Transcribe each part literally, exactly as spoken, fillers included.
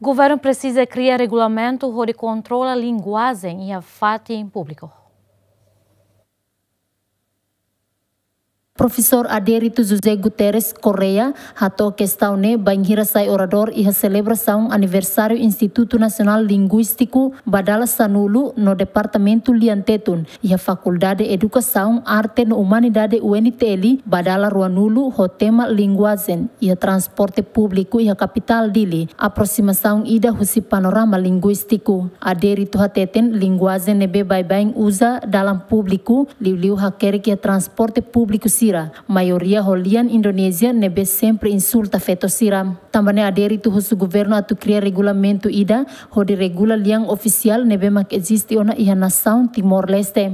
Governu presiza kria regulamentu hodi kontrola linguajen iha fatin públiku. Profesór Adérito José Guterres Correia hato'o kestaun ne'e bainhira sai oradór iha selebrasaun aniversáriu Institutu Nasionál Linguístiku ba dala sanulu no Departamentu Lian Tetun iha Fakuldade Edukasaun, Arte no Umanidade, U N T L, ba dala ruanulu, ho tema Linguajen iha Transporte Públiku iha Kapitál Dili, aprosimasaun ida husi panorama linguístiku. Adérito hateten, linguajen ne'ebé baibain uza dalan públiku, liuliu hakerek iha transporte públiku sira, maioria ho lian Indonézia, ne'ebé sempre insulta feto sira. Tanba ne'e Adérito husu governu atu kria regulamentu ida hodi regula lian ofisiál ne'ebé mak eziste ona iha nasaun Timor-Leste.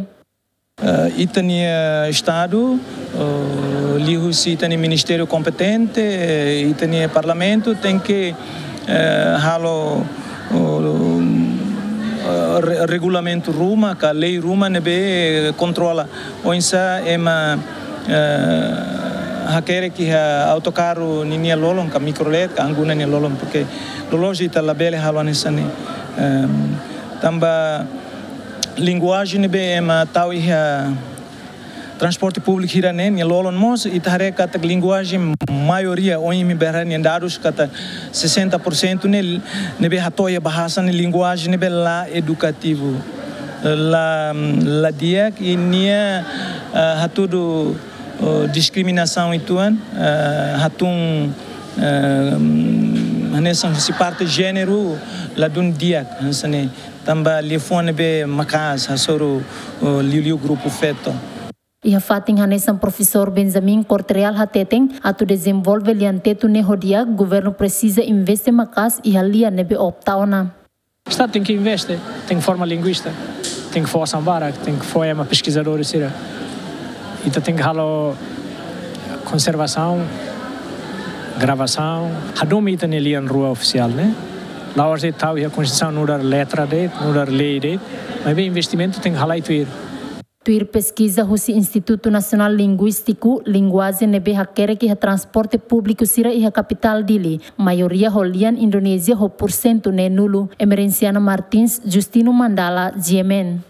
Eh, ita-nia Estadu, eh, liuhusi ita-nia ministériu kompetente, eh, ita-nia Parlamentu tenke, eh, halo, eh, re-, regulamentu ruma, ka lei ruma ne'ebé kontrola oinsá ema, eh, hakerek iha autokarru ninia lolon, ka mikrolet, ka anguna nia lolon, porke loloos ita labele halo hanesan ne'e. Em, tanba linguajen ne'ebé ema tau iha transporte públiku hira ne'e, nia lolon mós, ita haree katak linguajen maioria, ohin imi bele haree nia dadus katak sessenta por cento ne'e, ne'ebé hato'o iha bahasa ne'e linguajen ne'ebé la edukativu, la, la di'ak, i nia, ah, hatudu, oh, diskriminasaun uitoan, ah, hatún, ah, hanesan husi parte jéneru ladún di'ak, hanesan ne'e. Tanba liafuan ne'ebé maka'as hasoru, oh, liuliu grupu feto. Iha fatin hanesan, Profesór Benjamin Corte-Real hateten, atu dezenvolve lian Tetun ne'e ho di'ak, governu presiza investe maka'as iha lian ne'ebé opta ona. Estadu tenke investe, tenke forma linguista, tenke fó osan barak, tenke fó ema peskizadór sira. Ita tenke halo konservasaun, gravasaun, hadomi ita-nia lian rua ofisiál ne'e. La'ós de'it tau iha Konstituisaun nu'udar letra de'it, nu'udar lei de'it, maibé investimentu tenke halai tuir. Tuir peskiza husi Institutu Nasionál Linguístiku, linguajen ne'ebé hakerek iha transporte públiku sira iha Kapitál Dili, maioria ho lian Indonézia ho porsentu neenulu. Emerenciana Martins, Justino Mandala, G M N.